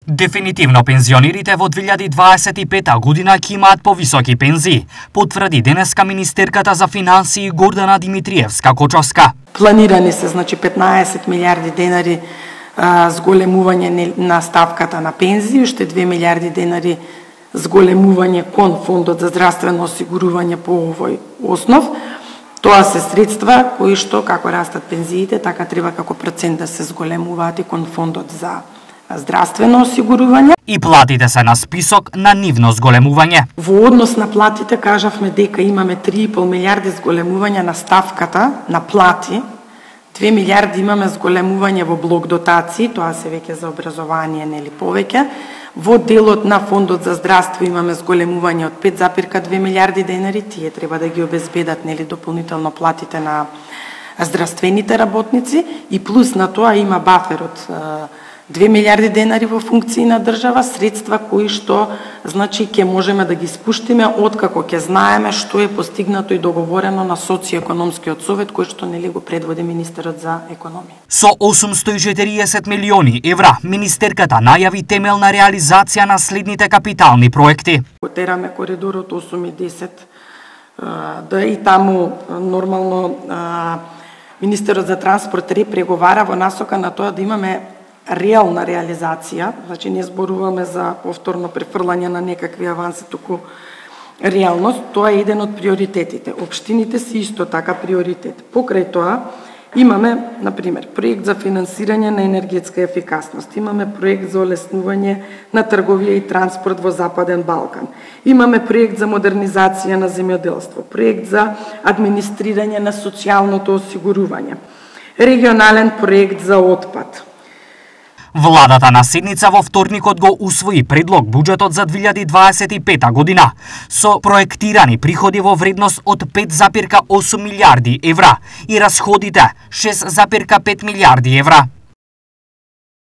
Дефинитивно пензионерите во 2025 година ќе имаат повисоки пензии, потврди денеска министерката за финансии Гордана Димитриевска-Кочовска. Планирани се 15 милиарди денари зголемување на ставката на пензии, уште 2 милиарди денари зголемување кон фондот за здравствено осигурување по овој основ. Тоа се средства кои што како растат пензиите, така треба како процент да се зголемуваат и кон фондот за здравствено осигурување. И платите се на список на нивно зголемување. Во однос на платите кажавме дека имаме 3,5 милиарди зголемување на ставката на плати, 2 милиарди имаме зголемување во блок дотации, тоа се веќе за образование нели повеќе. Во делот на фондот за здравство имаме зголемување од 5,2 милиарди денари, тие треба да ги обезбедат нели дополнително платите на здравствените работници и плюс на тоа има бафер од 2 милиарди денари во функции на држава, средства кои што значи ќе можеме да ги спуштиме откако ќе знаеме што е постигнато и договорено на социјоекономскиот совет кој што нели го предводи министерот за економија. Со 840 милиони евра министерката најави темелна реализација на следните капитални проекти. Тераме коридорот 8 и 10 да и таму нормално министерот за транспорт преговара во насока на тоа да имаме реална реализација, значи не зборуваме за повторно префрлање на некакви аванси, туку реалност, тоа е еден од приоритетите. Општините се исто така приоритет. Покрај тоа имаме, например, проект за финансирање на енергетска ефикасност, имаме проект за олеснување на трговија и транспорт во Западен Балкан, имаме проект за модернизација на земјоделство, проект за администрирање на социјалното осигурување, регионален проект за отпад. Владата на седница во вторникот го усвои предлог буџетот за 2025 година со проектирани приходи во вредност од 5,8 милиарди евра и расходите 6,5 милиарди евра.